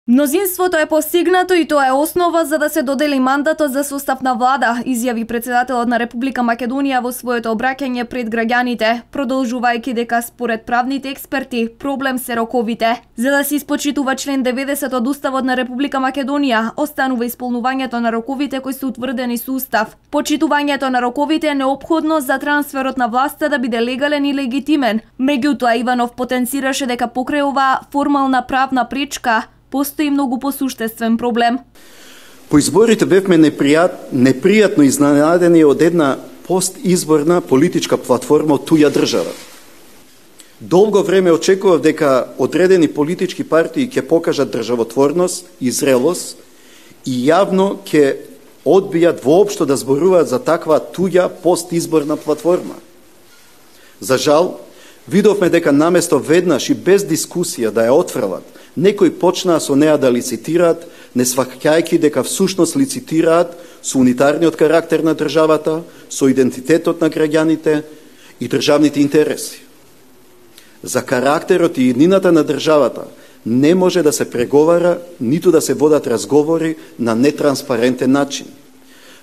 Мнозинството е постигнато и тоа е основа за да се додели мандатот за состав на влада, изјави претседателот на Република Македонија во своето обраќање пред граѓаните, продолжувајќи дека според правните експерти проблем се роковите. За да се испочитува член 90 од Уставот на Република Македонија, останува исполнувањето на роковите кои се утврдени со устав. Почитувањето на роковите е неопходно за трансферот на власта да биде легален и легитимен. Меѓутоа, Иванов потенцираше дека покрај оваа формална правна пречка постои многу посуштествен проблем. По изборите бевме непријатно изненадени од една постизборна политичка платформа од туја држава. Долго време очекував дека одредени политички партии ќе покажат државотворност и зрелост и јавно ќе одбијат воопшто да зборуваат за таква туја постизборна платформа. За жал, видовме дека наместо веднаш и без дискусија да ја отфрлат, некои почнаа со неа да лицитираат, не сваќајќи дека всушност лицитираат со унитарниот карактер на државата, со идентитетот на граѓаните и државните интереси. За карактерот и еднината на државата не може да се преговара, ниту да се водат разговори на нетранспарентен начин.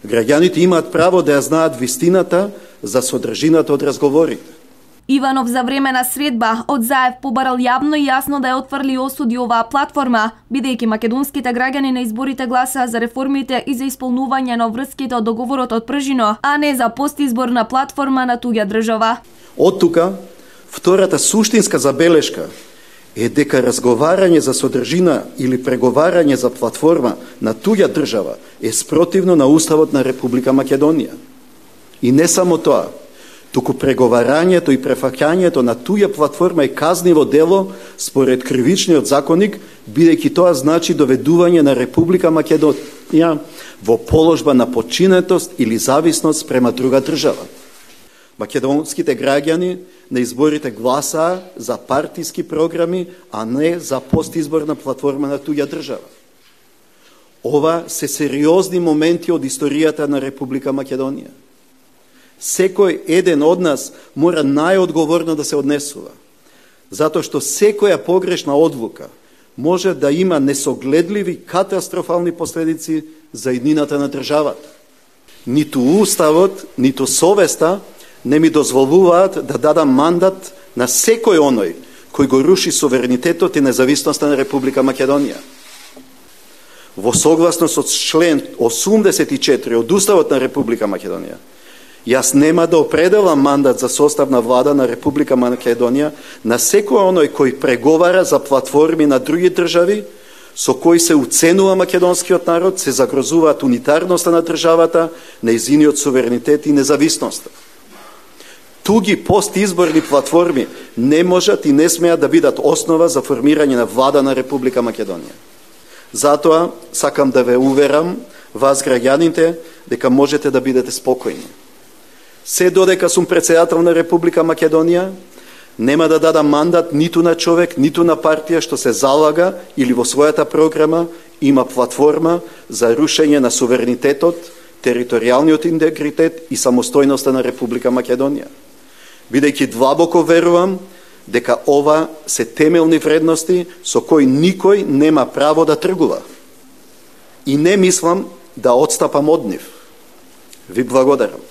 Граѓаните имаат право да ја знаат вистината за содржината од разговорите. Иванов за време на средба од Заев побарал јавно и јасно да ја отфрли осуди оваа платформа, бидејќи македонските граѓани на изборите гласаа за реформите и за исполнување на врските од договорот од Пржино, а не за постизборна платформа на туѓа држава. Од тука, втората суштинска забелешка е дека разговарање за содржина или преговарање за платформа на туѓа држава е спротивно на Уставот на Република Македонија. И не само тоа, туку преговарањето и префаќањето на туја платформа е казниво дело според кривичниот законник, бидејќи тоа значи доведување на Република Македонија во положба на подчинетост или зависност према друга држава. Македонските граѓани на изборите гласаа за партиски програми, а не за постизборна платформа на туја држава. Ова се сериозни моменти од историјата на Република Македонија. Секој еден од нас мора најодговорно да се однесува, затоа што секоја погрешна одлука може да има несогледливи катастрофални последици за еднината на државата. Ниту Уставот, ниту совеста не ми дозволуваат да дадам мандат на секој оној кој го руши суверенитетот и независноста на Република Македонија. Во согласност со член 84 од Уставот на Република Македонија, јас нема да определам мандат за состав на влада на Република Македонија на секој оној кој преговара за платформи на други држави, со кои се уценува македонскиот народ, се загрозуваат унитарноста на државата, нејзиниот суверенитет и независноста. Туги постизборни платформи не можат и не смеат да бидат основа за формирање на влада на Република Македонија. Затоа сакам да ве уверам, вас граѓаните, дека можете да бидете спокојни. Се додека сум претседател на Република Македонија, нема да дадам мандат ниту на човек, ниту на партија што се залага или во својата програма има платформа за рушење на суверенитетот, територијалниот интегритет и самостојноста на Република Македонија. Бидејќи длабоко верувам дека ова се темелни вредности со кои никој нема право да тргува. И не мислам да одстапам од нив. Ви благодарам.